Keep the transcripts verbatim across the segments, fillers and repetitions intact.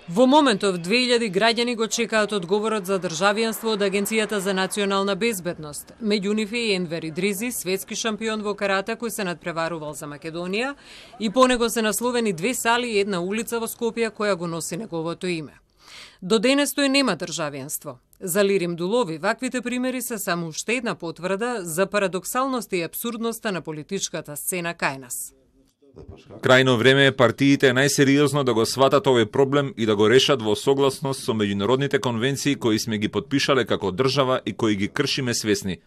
Во моментов две илјади граѓани го чекаат одговорот за државјанство од Агенцијата за национална безбедност. Меѓу нив е Енвер Идризи, светски шампион во карате кој се надпреварувал за Македонија, и по него се насловени две сали и една улица во Скопје која го носи неговото име. До денес тој нема државјанство. За Лирим Дулови ваквите примери се само уште една потврда за парадоксалноста и апсурдноста на политичката сцена кај нас. Крајно време е партиите најсериозно да го сватат овој проблем и да го решат во согласност со меѓународните конвенции кои сме ги подпишале како држава и кои ги кршиме свесни.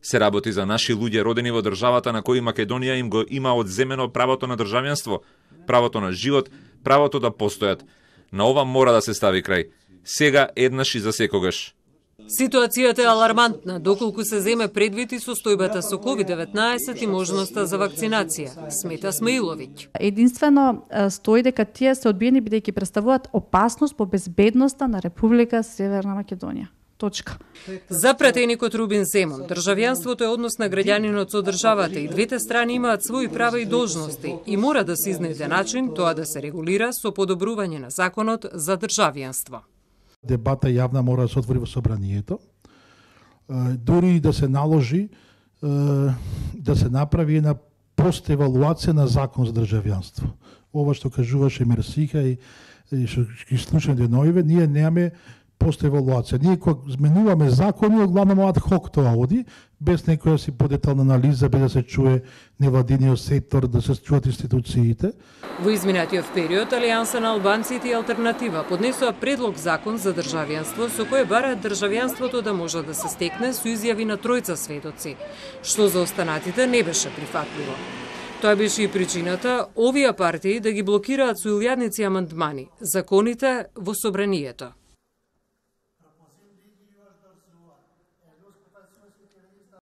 Се работи за наши луѓе родени во државата на кои Македонија им го има одземено правото на државјанство, правото на живот, правото да постојат. На ова мора да се стави крај. Сега еднаш и за секогаш. Ситуацијата е алармантна, доколку се земе предвид и состојбата со ковид деветнаесет и можноста за вакцинација, смета Смаиловиќ. Единствено стои дека тие се одбиени бидејќи представуваат опасност по безбедноста на Република Северна Македонија. Точка. За пратеникот Рубин Земун, државјанството е однос на граѓанинот со државата и двете страни имаат своји права и должности и мора да се изнайде начин тоа да се регулира со подобрување на законот за државјанство. Дебата јавна мора да се отвори во собранието, дури да се наложи да се направи една постевалуација на закон за државјанство. Ова што кажуваше Мерсиха и што ги слушаме деноиве, ние немаме постевалуација. Ние кога зменуваме закони, главно ад хок тоа оди, без некоја си подетална анализа, без да се чуе невладиниот сектор, да се чуат институциите. Во изминатиот период, Алијанса на албанците и Алтернатива поднесоа предлог закон за државјанство со кој бараат државјанството да може да се стекне со изјави на тројца сведоци, што за останатите не беше прифатливо. Тоа беше и причината овие партии да ги блокираат со илјадници амандмани законите во собранието.